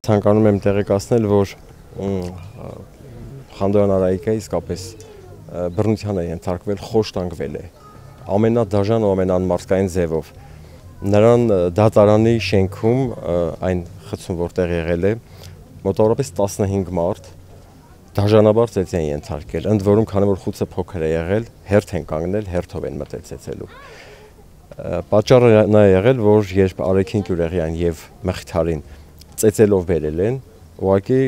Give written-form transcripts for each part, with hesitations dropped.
Ցանկանում եմ տեղեկացնել, որ Խանդոյան Արայիկը իսկապես բռնության է ենթարկվել, խոշտանգվել է ամենադաժան ու ամենաանմարդկային ձևով։ Նրան դատարանի շենքում այն խցում, որտեղ եղել է, մոտավորապես 15 մարդ դաժանաբար ծեծի են ենթարկել, ընդ որում քանի որ խուցը փոքր է եղել, հերթ են կանգնել, հերթով են մտել ծեծելու։ Պատճառը նա է եղել, որ երբ Արեքին Գյուղեղյան եւ Մխիթարին ծեծելով բերել են, ուղղակի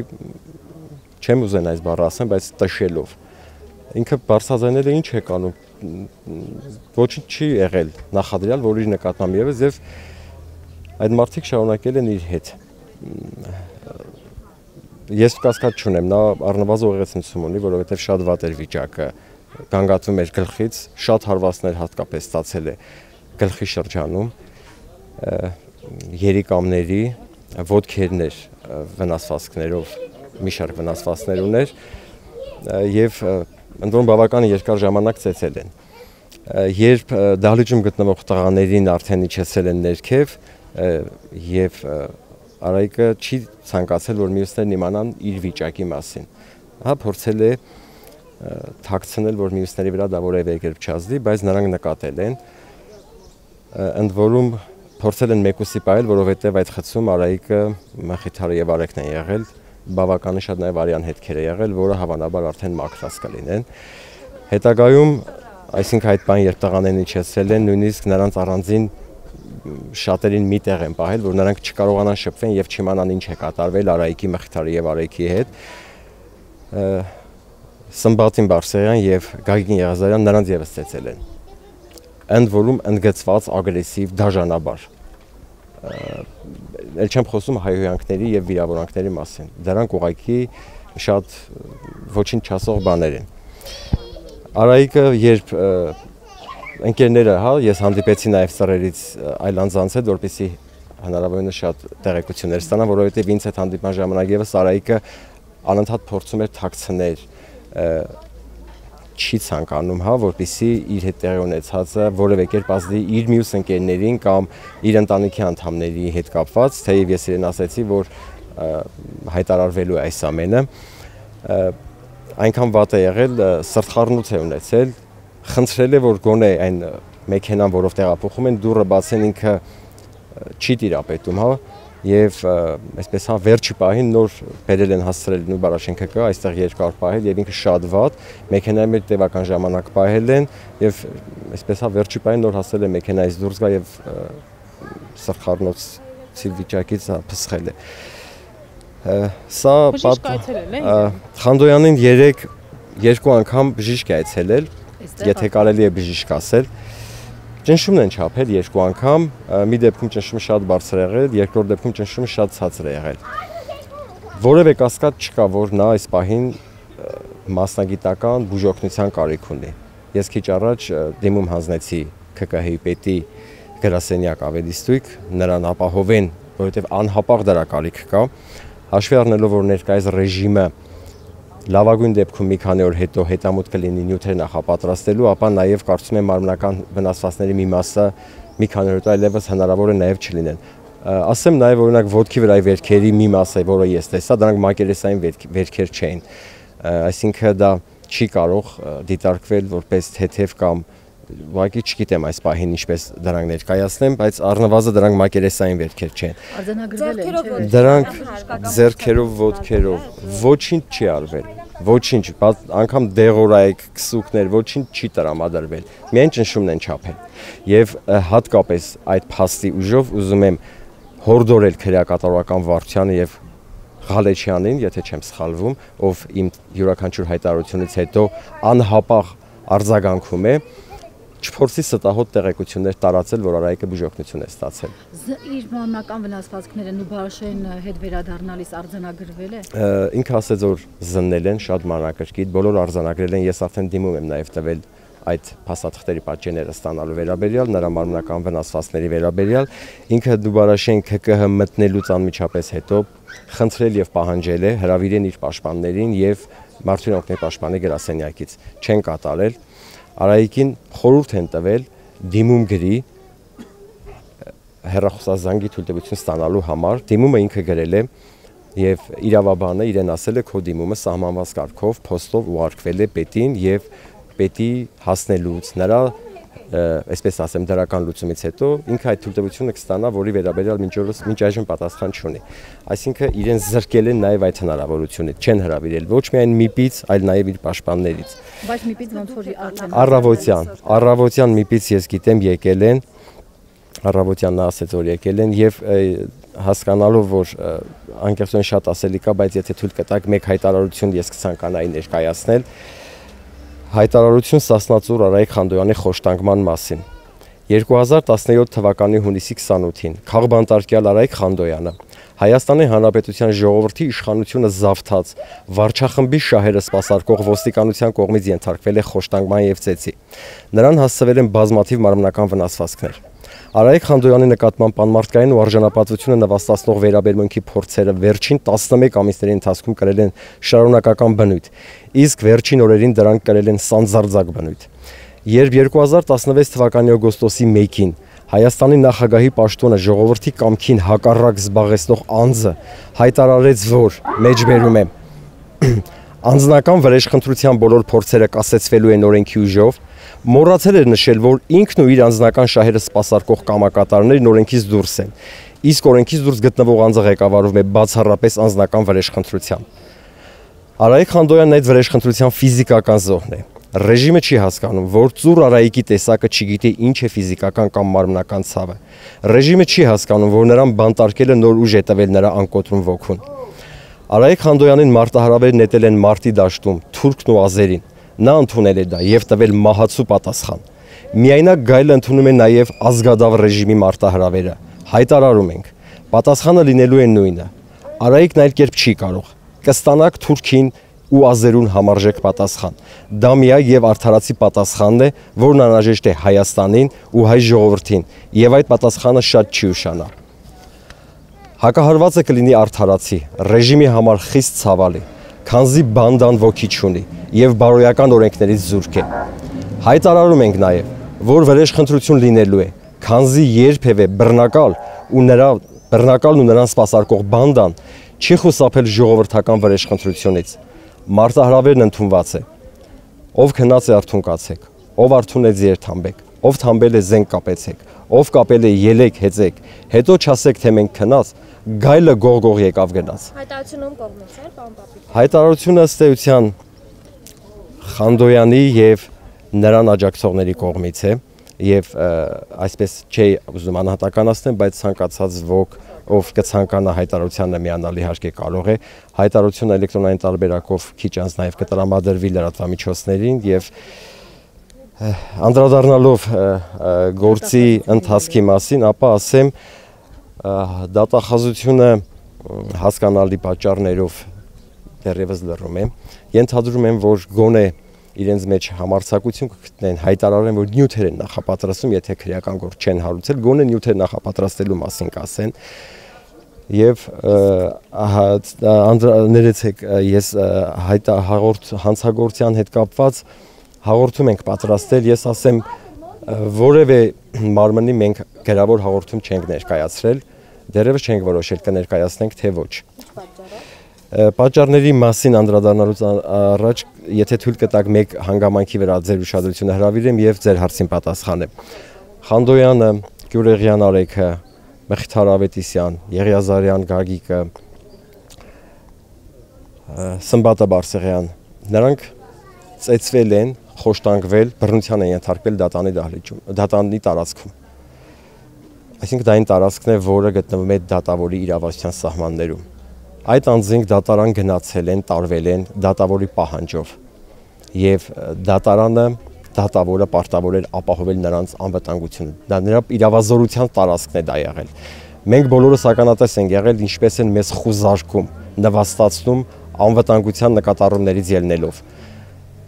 չեմ ուզեն այս բառը ասեմ, բայց տշելով։ Ինքը բարձրաձայնել է ինչ է կանում, ոչինչ չի եղել նախադրյալ, որ իր նկատմամբ ևս եւ այդ մարդիկ շարունակել են իր հետ։ Ես կասկած չունեմ, նա առնվազն ուղեղացություն ունի, որովհետեւ շատ վատ էր վիճակը, գանգատվում էր գլխից, շատ հարվածներ հատկապես ստացել է գլխի շրջանում, երիկամների, ոտքերներ վնասվածքներով, մի շարք վնասվածքներ ուներ եւ ընդ որում բավական երկար ժամանակ ծեծել են։ Երբ դահլիճում գտնվող տղաներին արդեն իջեցել են ներքև եւ Արայիկը չի ցանկացել, որ մյուսներն իմանան իր վիճակի մասին։ Հա փորձել է թաքցնել, որ մյուսների վրա դա որևէ կերպ չազդի, բայց նրանք նկատել են։ Ընդ որում փորձել են մեկուսի պահել, որովհետև այդ խցում Արայիկը, Մխիթարը եւ Արեքն են եղել, բավականին շատ նաեւ արյան հետքեր է եղել, որը հավանաբար արդեն մաքրած կլինեն։ Հետագայում, այսինքն այդ բան երբ տղաներն իջեցրել են, նույնիսկ նրանց առանձին շատերին մի տեղ են պահել, որ նրանք չկարողանան շփվեն եւ չիմանան ինչ է կատարվել Արայիկի, Մխիթարի եւ Արեքի հետ։ Սմբատին Բարսեղյան եւ Գագիկ Եղազարյան նրանց եւս ծեծել են։ Ընդ որում ընդգծված ագրեսիվ դաժանաբար։ Էլ չեմ խոսում հայհոյանքների եւ վիրավորանքների մասին։ Դրանք ուղղակի շատ ոչինչ չասող բաներ են։ Արայիկը երբ ընկերները, հա, ես հանդիպեցի նաև ծռերից այլ անձանց հետ, որպեսզի հնարավորինս շատ տեղեկություններ ստանամ, որովհետև ինձ հետ հանդիպման ժամանակ եւս Արայիկը անընդհատ փորձում էր թաքցնել, չի ցանկանում, հա, որպեսզի իր հետ տեղի ունեցածը որևէ կերպ ազդի իր մյուս ընկերներին կամ իր ընտանիքի անդամների հետ կապված, թեև ես իրեն ասացի, որ հայտարարվելու է այս ամենը, այնքան վատ է եղել, սրտխառնոց է ունեցել, խնդրել է, որ գոնե այն մեքենան, որով տեղափոխում են, դուռը բացեն, ինքը չի տիրապետում, հա, եւ այսպես հա վերջի պահին նոր բերել են հասցրել նույն Բարաշենքը կա, այստեղ երկար պահել եւ ինքը շատ վատ, մեքենայի մեջ տևական ժամանակ պահել են եւ այսպես հա վերջի պահին նոր հասցրել է մեքենայից դուրս գա եւ սրտխառնոցի վիճակից փսխել է։ Սա Խանդոյանին 2 անգամ բժիշկ է այցելել, եթե կարելի է բժիշկ ասել։ Ճնշումն են չափել 2 անգամ, մի դեպքում ճնշումը շատ բարձր է եղել, երկրորդ դեպքում ճնշումը շատ ցածր է եղել։ Որևէ կասկած չկա, որ նա այս պահին մասնագիտական բուժօգնության կարիք ունի։ Ես քիչ առաջ դիմում հանձնեցի ՔԿՀ-ի պետի գրասենյակ ավելի ստույգ, նրան ապահովեն, որովհետև անհապաղ դրա կարիք կա, հաշվի առնելով, որ ներկայիս ռեժիմը լավագույն դեպքում մի քանի օր հետո հետամուտ կլինի նյութեր նախապատրաստելու, ապա նաև կարծում եմ մարմնական վնասվածքների մի մասը մի քանի օր հետո այլևս հնարավոր է նաև չլինեն։ Ասեմ նաև օրինակ ոտքի վրայի վերքերի մի մասը, որը ես տեսա, դրանք մակերեսային վերքեր չէին։ Այսինքն դա չի կարող դիտարկվել որպես թեթև կամ ուղղակի չգիտեմ այս պահին ինչպես դրանք ներկայացնեմ, բայց առնվազն դրանք մակերեսային վերքեր չեն։ Արձանագրվել են, դրանք ձեռքերով, ոտքերով, ոչինչ չի արվել, ոչինչ, անգամ դեղորայք, քսուկներ, ոչինչ չի տրամադրվել, միայն ճնշումն են չափել։ Եվ հատկապես այդ փաստի ուժով ուզում եմ հորդորել քրեակատարողական վարչությանը եւ Ղալեչյանին, եթե չեմ սխալվում, ով իմ յուրաքանչյուր հայտարարությունից հետո անհապաղ արձագանքում է, չփորձի ստահոդ տեղեկություններ տարածել, որ Արայիկը բուժօգնություն է ստացել։ Իր մարմնական վնասվածքները Նուբարաշեն հետ վերադառնալիս արձանագրվել է։ Ինքը ասեց, որ զննել են շատ մանրակրկիտ, բոլոր արձանագրել են, ես արդեն դիմում եմ նաև տվել այդ փաստաթղթերի պատճենները ստանալու վերաբերյալ, նրա մարմնական վնասվածքների վերաբերյալ, ինքը Նուբարաշեն ՔԿՀ մտնելուց անմիջապես հետո խնդրել եւ պահանջել է հրավիրեն իր պաշտպաններին եւ Մարդու իրավունքների պաշտպանի գրասենյակից չեն կատարել։ Արայիկին խորհուրդ են տվել դիմում գրի հեռախոսազանգի թույլտվություն ստանալու համար, դիմումը ինքը գրել է Եվ իրավաբանը իրեն ասել է քո դիմումը սահմանված կարգով փոստով ուղարկվել է պետին եւ պետի հասնելուց նրա այսպես ասեմ դրական լուծումից հետո ինքը այդ թույլտվությունը կստանա, որի վերաբերյալ մինչ այժմ պատասխան չունի։ Այսինքն իրեն զրկել են նաև այդ հնարավորությունից, չեն հրավիրել ոչ միայն ՄԻՊ-ից, այլ նաև իր պաշտպաններից։ Բայց ՄԻՊ-ից ոնց որ արդեն առավոտյան ՄԻՊ-ից ես գիտեմ եկել են, առավոտյան նա ասեց որ եկել են եւ հասկանալով որ անկեղծորեն շատ ասելի կա, բայց եթե թույլ կտակ մեկ հայտարարություն ես կցանկանայի ներկայացնել, հայտարարություն Սասնածուր Արայիկ Խանդոյանի խոշտանգման մասին։ 2017 թվականի հունիսի 28-ին քաղբանտարկյալ Արայիկ Խանդոյանը Հայաստանի Հանրապետության ժողովրդի իշխանությունը զավթած վարչախմբի շահերը սպասարկող ոստիկանության կողմից ենթարկվել է խոշտանգման եւ ծեծի։ Նրան հասցվել են բազմաթիվ մարմնական վնասվածքներ։ Արայիկ Խանդոյանի նկատմամբ անմարդկային ու արժանապատվությունը նվաստացնող վերաբերմունքի փորձերը վերջին 11 ամիսների ընթացքում կրել են շարունակական բնույթ, իսկ վերջին օրերին դրանք կրել են սանձարձակ բնույթ։ Երբ 2016 թվականի օգոստոսի 1-ին Հայաստանի նախագահի պաշտոնը ժողովրդի կամքին հակառակ զբաղեցնող անձը հայտարարեց, որ մեջբերում է անձնական վրեժխնդրության բոլոր փորձերը կասեցվելու են օրենքի ուժով, մոռացել էր նշել, որ ինքն ու իր անձնական շահերը սպասարկող կամակատարներն օրենքից դուրս են, իսկ օրենքից դուրս գտնվող անձը ղեկավարվում է բացառապես անձնական վրեժխնդրությամբ։ Արայիկ Խանդոյանն այդ վրեժխնդրության ֆիզիկական զոհն է։ Ռեժիմը չի հասկանում, որ ծուռ Արայիկի տեսակը չգիտի ինչ է ֆիզիկական կամ մարմնական ցավը։ Ռեժիմը չի հասկանում, որ նրան բանտարկելը նոր ուժ է տվել նրա անկոտրում ոգուն։ Արայիկ Խանդոյանին մարտահրավեր նետել են մարտի դաշտում թուրքն ու ազերին։ Նա ընդունել է դա եւ տվել մահացու պատասխան։ Միայնակ գայլը ընդունում է նաեւ ազգադավ ռեժիմի մարտահրավերը։ Հայտարարում ենք, պատասխանը լինելու է նույնը։ Արայիկն այլ կերպ չի կարող։ Կստանաք թուրքին ու ազերուն համարժեք պատասխան։ Դա միակ եւ արդարացի պատասխանն է, որն անհրաժեշտ է Հայաստանին ու հայ ժողովրդին, եւ այդ պատասխանը շատ չի ուշանա։ Հակահարվածը կլինի արդարացի, ռեժիմի համար խիստ ցավալի, քանզի բանդան ոգի չունի եւ բարոյական օրենքներից զուրկ է։ Հայտարարում ենք նաեւ, որ վրեժխնդրություն լինելու է, քանզի երբևէ բռնակալն ու նրան սպասարկող բանդան չի խուսափել ժողովրդական վրեժխնդրությունից։ Մարտահրավերն ընդունված է։ Ով քնած է արթուն կացեք, ով արթուն է ձեր թամբեք, ով թամբել է զենք կապեցեք, ով կապել է ելեք հեծեք, հետո չասեք թե մենք քնած, գայլը գողգող եկավ գնաց։ Հայտարարությունում կողմից է, պարոն Պապիկ։ Հայտարարությունը ըստ էության Խանդոյանի եւ նրան աջակցողների կողմից է եւ այսպես չի ուզում անհատականացնեմ, բայց ցանկացած ոք ով կցանկանա հայտարարությանը միանալ իհարկե կարող է, հայտարարությունը էլեկտրոնային տարբերակով քիչ անց նաև կտրամադրվի լրատվամիջոցներին եւ անդրադառնալով գործի ընթացքի մասին, ապա ասեմ դատախազությունը հասկանալի պատճառներով դեռևս լռում է, ենթադրում եմ, որ գոնե իրենց մեջ համարձակություն կգտնեն, հայտարարեն, որ նյութեր են նախապատրաստում, եթե քրեական գործ չեն հարուցել, գոնե նյութեր նախապատրաստելու մասին կասեն։ Եվ ներեցեք, ես հանցագործության հետ կապված հաղորդում ենք պատրաստել, ես ասեմ, որևէ մարմնի մենք գրավոր հաղորդում չենք ներկայացրել, դեռևս չենք որոշել կներկայացնենք, թե ոչ։ Պատճառների մասին անդրադառնալուց առաջ, եթե թույլ կտակ մեկ հանգամանքի վրա ձեր ուշադրությունը հրավիրեմ եւ ձեր հարցին պատասխանեմ։ Խանդոյանը, Գյուրեղյան Արեգը, Մխիթար Ավետիսյան, Եղիազարյան Գագիկը, Սմբատը Բարսեղյան, նրանք ծեծվել են, խոշտանգվել, բռնության են ենթարկվել դատանի դահլիճում, դատանի տարածքում։ Այսինքն դա այն տարածքն է, որը գտնվում է դատավորի իրավասության սահմաններում։ Այդ անձինք դատարան գնացել են, տարվել են դատավորի պահանջով եւ դատավորը պարտավոր էր ապահովել նրանց անվտանգությունը։ Դա նրա իրավազորության տարածքն է դա եղել։ Մենք բոլորս ականատես ենք եղել, ինչպես են մեզ խուզարկում, նվաստացնում անվտանգության նկատառումներից ելնելով։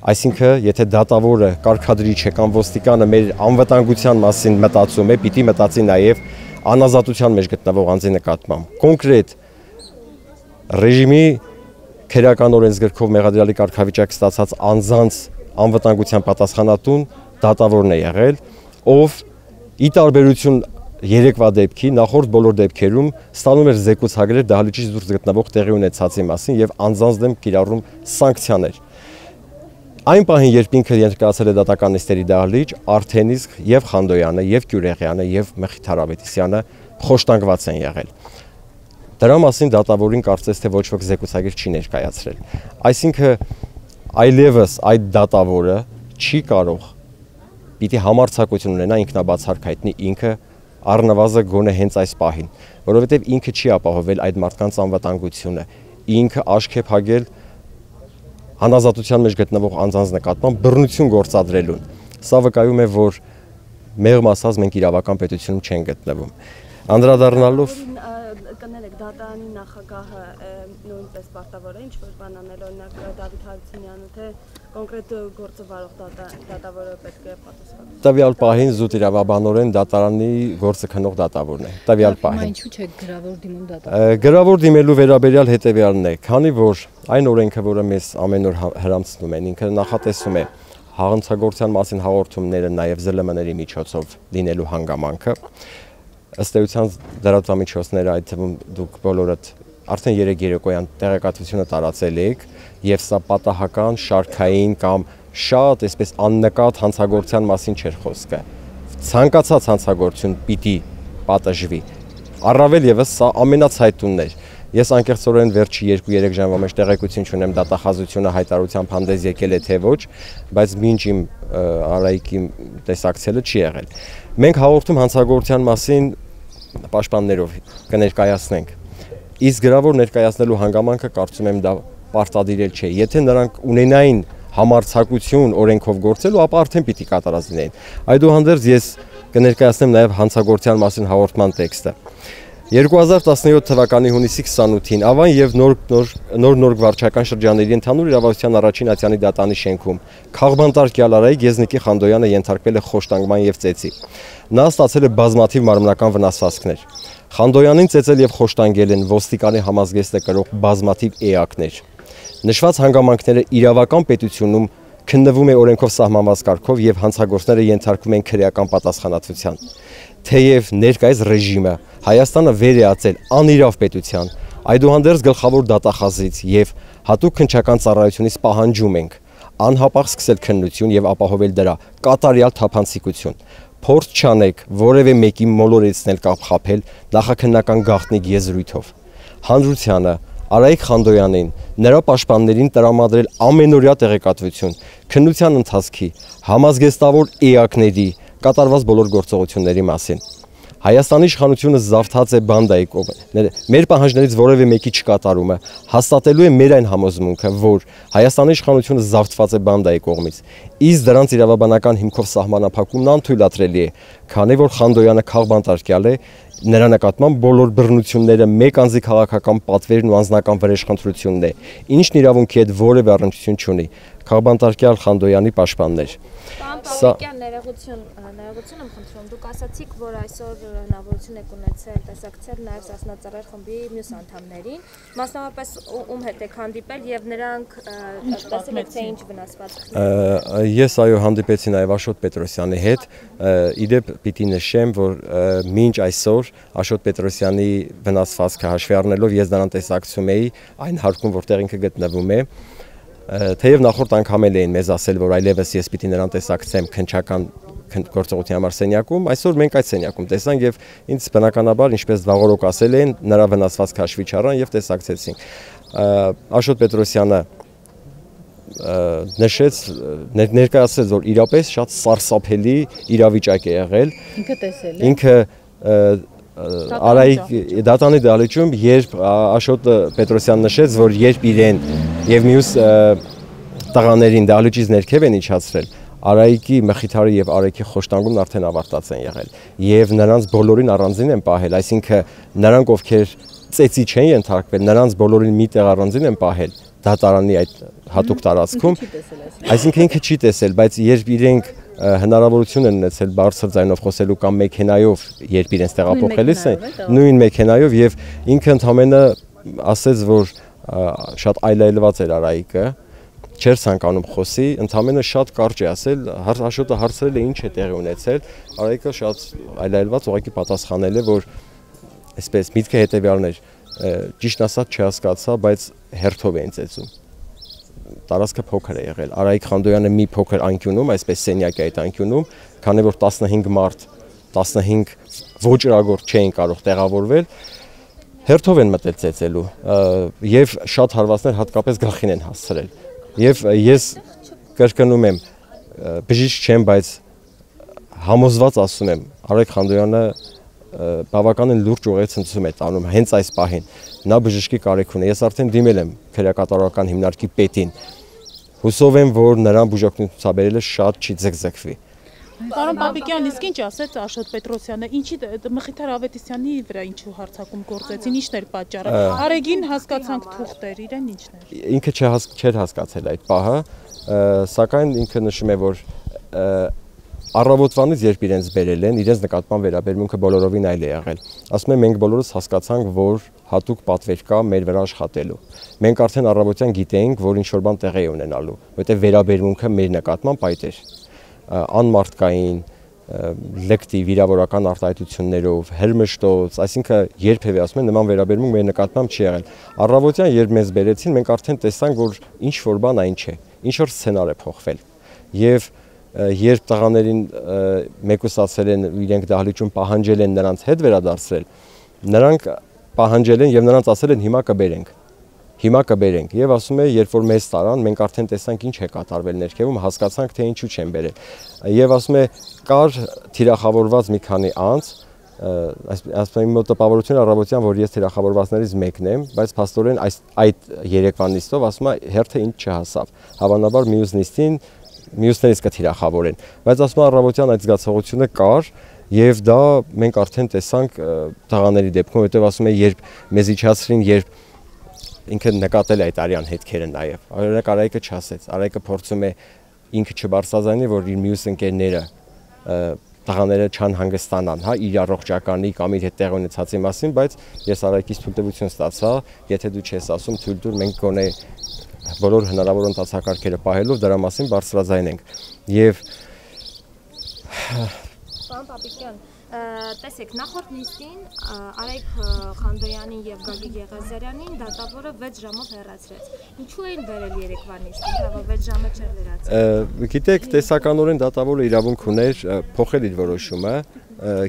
Այսինքն, եթե դատավորը, կարգադրիչը կամ ոստիկանը մեր անվտանգության մասին մտածում է, պիտի մտածի նաեւ անազատության մեջ գտնվող անձի նկատմամբ։ Կոնկրետ ռեժիմի քերական օրենսգրքով մեղադրյալի կարգավիճակ ստացած անձանց անվտանգության պատասխանատուն դատավորն է եղել, ով ի տարբերություն երեկվա դեպքի նախորդ բոլոր դեպքերում ստանում էր զեկուցագրեր դահլիճից դուրս գտնվող տեղի ունեցածի մասին եւ անձանց դեմ կիրառում սանկցիաներ։ Այն պահին, երբ ինքը ներկայացել է դատական նիստերի դահլիճ, արդեն իսկ եւ Խանդոյանը, եւ Գյուրեղյանը, եւ Մխիթար Ավետիսյանը խոշտանգված են եղել։ Դրա մասին դատավորին կարծես թե ոչ ոք զեկուցագիր չի ներկայացրել։ Այսինքն այլևս այդ դատավորը չի կարող պիտի համարձակություն ունենա ինքնաբացարկ հայտնի ինքը առնվազն գոնե հենց այս պահին, որովհետև ինքը չի ապահովել այդ մարդկանց անվտանգությունը, ինքը աշկ է փակել հանազատության մեջ գտնվող անձանց նկատմամբ բռնություն գործադրելուն։ Սա վկայում է, որ մեղմ ասած մենք իրավական պետությունում չենք գտնվում։ Անդրադառնալով կներեք դատարանի նախագահը նույնպես պարտավոր է ինչ-որ բան անել, օրինակ Դավիթ Հարությունյանը, թե կոնկրետ գործը վարող դատավորը պետք է պատասխանի։ Տվյալ պահին զուտ իրավաբանորեն դատարանի գործը քննող դատավորն է։ Տվյալ պահին։ Ինչու՞ չէ գրավոր դիմում դատավորը։ Գրավոր դիմելու վերաբերյալ հետևյալն է, քանի որ այն օրենքը, որը մեզ ամեն օր հրամցնում են, ինքը նախատեսում է հանցագործության մասին հաղորդումները նաև ԶԼՄ-ների միջոցով լինելու հանգամանքը։ Ըստ էության լրատվամիջոցները, այդ թվում դուք բոլորդ արդեն 3 երեկոյան տեղեկատվությունը տարածել եք, եւ սա պատահական, շարքային կամ շատ այսպես աննկատ հանցագործության մասին չէր խոսքը։ Ցանկացած հանցագործություն պիտի պատժվի։ Առավել եւս սա ամենացայտունն էր։ Ես անկեղծորեն վերջի 2-3 ժամվա մեջ տեղեկություն չունեմ դատախազությունը հայտարարությամբ հանդես եկել է թե ոչ, բայց մինչ իմ Արայիկի տեսակցելը չի եղել։ Մենք հաղորդում հանցագործության մասին պաշտպաններով կներկայացնենք։ Իսկ գրավոր ներկայացնելու հանգամանքը կարծում եմ դա պարտադիրել չէ։ Եթե նրանք ունենային համարձակություն օրենքով գործելու, ապա արդեն պիտի կատարած լինեին։ Այդուհանդերձ ես կներկայացնեմ նաև հանցագործության մասին հաղորդման տեքստը։ 2017 թվականի հունիսի 28-ին Ավան եւ նոր վարչական շրջանների ընդհանուր իրավասության առաջին ատյանի դատանի շենքում քաղբանտարկյալ Արայիկ Եզնիկի Խանդոյանը ենթարկվել է խոշտանգման եւ ծեծի։ Նա ստացել է բազմաթիվ մարմնական վնասվածքներ։ Խանդոյանին ծեծել եւ խոշտանգել են ոստիկանի համազգեստը կրող բազմաթիվ էակներ։ Նշված հանգամանքները իրավական պետությունում քննվում է օրենքով սահմանված կարգով եւ հանցագործները ենթարկվում են քրեական պատասխանատվության։ Թեև ներկայիս ռեժիմը Հայաստանը վեր է ածել անիրավ պետության, այդուհանդերձ գլխավոր դատախազից եւ հատուկ քննչական ծառայությունից պահանջում ենք անհապաղ սկսել քննություն եւ ապահովել դրա կատարյալ թափանցիկություն։ Փորձ չանեք որևէ մեկի մոլորեցնել կամ խաբել նախաքննական գաղտնիք եզրույթով։ Հանրությանը Արայիկ Խանդոյանին, նրա պաշտպաններին տրամադրել ամենօրյա տեղեկատվություն, քննության ընթացքի, համազգեստավոր էակների, կատարված բոլոր գործողությունների մասին։ Հայաստանի իշխանությունը զավթած է բանդայի կողմից։ Մեր պահանջներից որևէ մեկի չկատարումը հաստատելու է մեր այն համոզմունքը, որ Հայաստանի իշխանությունը զավթված է բանդայի կողմից։ Իսկ դրանց իրավաբանական հիմքով սահմանափակումն անթույլատրելի է, քանի որ Խանդոյանը քաղբանտարկյալ է, նրա նկատմամբ բոլոր բռնությունները մեկ անձի քաղաքական պատվերն ու անձնական վրեժխնդրությունն է, ինչն իրավունքի հետ որևէ առնչություն չունի։ Քաղբանտարկյալ Խանդոյանի պաշտպաններ։ Պարոն ներողություն եմ խնդրում, դուք ասացիք, որ այսօր հնարավորություն եք ունեցել տեսակցել նաև Սասնածառայ խմբի մյուս անդամներին, մասնավորապես ում հետ եք հանդիպել եւ նրանք տեսել եք թե ինչ վնասվածքներ։ Ես այո հանդիպեցի նաև Աշոտ Պետրոսյանի հետ, իդեպ պիտի նշեմ, որ մինչ այսօր Աշոտ Պետրոսյանի վնասվածքը հաշվի առնելով ես նրան տեսակցում էի այն հարկում, որտեղ ինքը գտնվում է։ Թեև նախորդ անգամ էին մեզ ասել, որ այլևս ես պիտի նրան տեսակցեմ քննչական գործողության համար սենյակում, այսօր մենք այդ սենյակում տեսանք եւ ինձ բնականաբար, ինչպես վաղորոք ասել են, նրա վնասվածք հաշվի չառան եւ տեսակցեցինք։ Աշոտ Պետրոսյանը նշեց, ներկայացրեց, որ իրապես շատ սարսափելի իրավիճակ է եղել։ Ինքը տեսել է։ Ինքը Արայիկ դատանի դահլիճում, երբ Աշոտ Պետրոսյանն նշեց, որ երբ իրեն եւ մյուս տղաներին դահլիճից ներքև են իջացրել, Արայիկի, Մխիթարի եւ Արայիկի խոշտանգումն արդեն ավարտած են եղել եւ նրանց բոլորին առանձին են պահել, այսինքն նրանք ովքեր ծեծի չեն ենթարկվել, նրանց բոլորին մի տեղ առանձին են պահել դատարանի այդ հատուկ տարածքում, այսինքն ինքը չի տեսել, բայց երբ իրենք հնարավորություն են ունեցել բարձր ձայնով խոսելու կամ մեքենայով, երբ իրենց տեղափոխելիս են, նույն մեքենայով եւ ինքը ընդհանրապես ասեց, որ շատ այլայլված էր Արայիկը, չէր ցանկանում խոսի, ընդամենը շատ կարճ է ասել, Աշոտը հարցրել է ինչ է տեղի ունեցել, Արայիկը շատ այլայլված ուղղակի պատասխանել է, որ այսպես միտքը հետեւյալն էր, ճիշտ ասած չհասկացա, բայց հերթով էին ծեծում։ Տարածքը փոքր է եղել։ Արայիկ Խանդոյանը մի փոքր անկյունում, այսպես սենյակի այդ անկյունում, քանի որ 15 մարդ, 15 ոճրագործ չէին կարող տեղավորվել, հերթով են մտել ծեծելու եւ շատ հարվածներ հատկապես գլխին են հասցրել։ Եվ ես կրկնում եմ, բժիշկ չեմ, բայց համոզված ասում եմ, Արայիկ Խանդոյանը բավականին լուրջ ուղեցնցում է տանում հենց այս պահին։ Նա բժշկի կարիք ունի։ Ես արդեն դիմել եմ քրեակատարական հիմնարկի պետին։ Հուսով եմ, որ նրան բուժօգնություն ցուցաբերելը շատ չի ձգձգվի։ Պարոն Պապիկյան, իսկ ինչ ասեց Աշոտ Պետրոսյանը, ինչի Մխիթար Ավետիսյանի վրա ինչու հարձակում գործեցին, ինչն էր պատճառը։ Արեգին հասկացանք թուղթեր, իրեն ինչն էր։ Ինքը չէր հասկացել այդ պահը, սակայն ինքը նշում է, որ առավոտվանից երբ իրենց բերել են, իրենց նկատմամբ վերաբերմունքը բոլորովին այլ է եղել։ Ասում եմ, մենք բոլորս հասկացանք, որ հատուկ պատվեր կա մեր վրա աշխատելու։ Մենք արդեն առավոտյան գիտեինք, որ ինչ-որ բան տեղի է ունենալու, որտեղ վերաբերմունքը մեր նկատմամբ այդ էր։ Անմարդկային, լեկտիվ վիրավորական արտահայտություններով, հրմշտոց, այսինքն երբևէ ասում են նման վերաբերմունք մեր նկատմամբ չի եղել։ Առավոտյան երբ մեզ բերեցին, մենք արդեն տեսանք, որ ինչ որ բան այն չէ, ինչ որ սցենար է փոխվել։ Եվ երբ տղաներին մեկուսացել են, իրենք դահլիճում պահանջել են նրանց հետ վերադարձրել, նրանք պահանջել են եւ նրանց ասել են հիմա կբերենք եւ ասում է, երբ որ մեզ տարան, մենք արդեն տեսանք ինչ է կատարվել ներքևում, հասկացանք թե ինչու չեն բերել։ Եվ ասում է, կար թիրախավորված մի քանի անձ, ասում եմ մոտ տպավորություն առավոտյան, որ ես թիրախավորվածներից մեկն եմ, բայց փաստորեն այդ երեկվա նիստով ասում է հերթը ինձ չհասավ։ Հավանաբար մյուս նիստին մյուսներից կթիրախավորեն, բայց ասում առավոտյան այդ զգացողությունը կար եւ դա մենք արդեն տեսանք տղաների դեպքում, որտեղ ասում է, երբ մեզ իջացրին, երբ ինքը նկատել է այդ արյան հետքերը նաեւ։ Օրինակ Արայիկը չասեց, Արայիկը փորձում է ինքը չբարձրացնել, որ իր մյուս ընկերները տղաները չանհանգստանան, հա, իր առողջականի կամ իր հետ տեղ ունեցածի մասին, բայց ես Արայիկից թույլտվություն ստացա, եթե դու չես ասում, թույլ տուր, մենք գոնե բոլոր հնարավոր ընթացակարգերը պահելով դրա մասին բարձրաձայնենք։ Եվ Պարոն Պապիկյան, տեսեք, նախորդ նիստին Արայիկ Խանդոյանին եւ Գագիկ Եղազարյանին դատավորը 6 ժամով հեռացրեց։ Ինչու էին բերել երեկվա նիստին, որ 6 ժամը չէր լրացել։ Գիտեք, տեսականորեն դատավորը իրավունք ուներ փոխել իր որոշումը,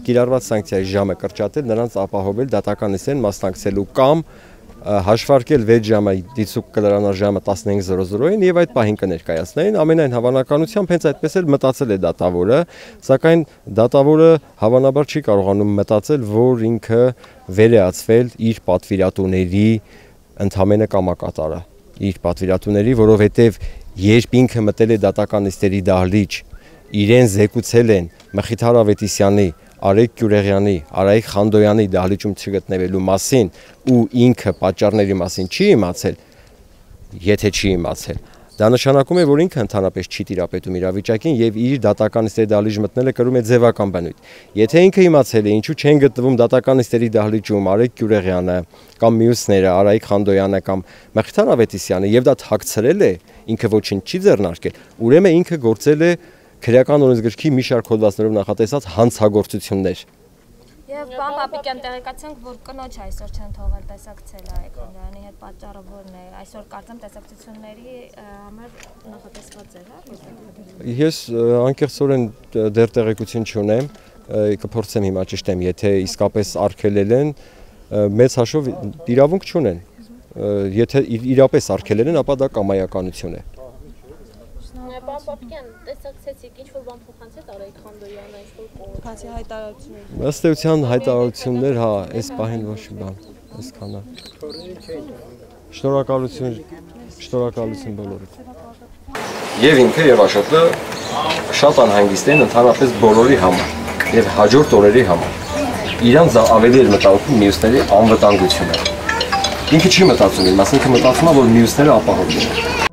կիրառված սանկցիայի ժամը կրճատել, նրանց ապահովել դատական նիստին մասնակցելու կամ հաշվարկել 6 ժամը դիցուկ կլրանար ժամը 15:00-ին եւ այդ պահին կներկայացնեին, ամենայն հավանականությամբ հենց այդպես էլ մտածել է դատավորը, սակայն դատավորը հավանաբար չի կարողանում մտածել, որ ինքը վերեացվել իր պատվիրատուների ընդհանրապես կամակատարը, իր պատվիրատուների, որովհետեւ երբ ինքը մտել է դատական նիստերի դահլիճ, իրեն զեկուցել են Մխիթար Ավետիսյանի, Արայիկ Գյուլերյանի, Արայիկ Խանդոյանի դահլիճում չգտնվելու մասին ու ինքը պատճառների մասին չի իմացել, եթե չի իմացել, դա նշանակում է, որ ինքը ընդհանրապես չի տիրապետում իրավիճակին եւ իր դատական նիստերի դահլիճ մտնելը կրում է ձևական բնույթ։ Եթե ինքը իմացել է, ինչու չեն գտնվում դատական նիստերի դահլիճում Արայիկ Գյուլերյանը կամ մյուսները, Արայիկ Խանդոյանը կամ Մխիթար Ավետիսյանը եւ դա թաքցրել է, ինքը ոչինչ չի ձեռնարկել, ուրեմն ինքը գործել է քրեական օրենսգրքի մի շարք հոդվածներով նախատեսած հանցագործություններ։ Եվ պարոն Պապիկյան, տեղեկացանք, որ կնոջ այսօր չեն թողել տեսակցել Արայիկ Խանդոյանի հետ, պատճառը որն է։ Այսօր կարծեմ տեսակցությունների համար նախատեսված էր, հա։ Ես անկեղծորեն դեռ տեղեկություն չունեմ, կփորձեմ հիմա ճշտեմ, եթե իսկապես արգելել են, մեծ հաշվով իրավունք չունեն։ Եթե իրապես արգելել են, ապա դա կամայականություն է։ Պարոն Պապիկյան, տեսակցեցիք, ինչ-որ բան փոխանցեց Արայիկ Խանդոյանը, ինչ-որ բացի հայտարարություններ։ Ըստ էության հայտարարություններ, հա, այս պահին ոչ մի բան, այսքան է։ Շնորհակալություն բոլորիդ։ Եվ ինքը եւ Աշոտը շատ անհանգիստ են ընդհանրապես բոլորի համար եւ հաջորդ օրերի համար։ Իրանց ավելի էր մտածում մյուսների անվտանգությունը։ Ինքը չի մտածում իր մասին, ինքը մտածում է, որ մյուսները ապահով լինեն։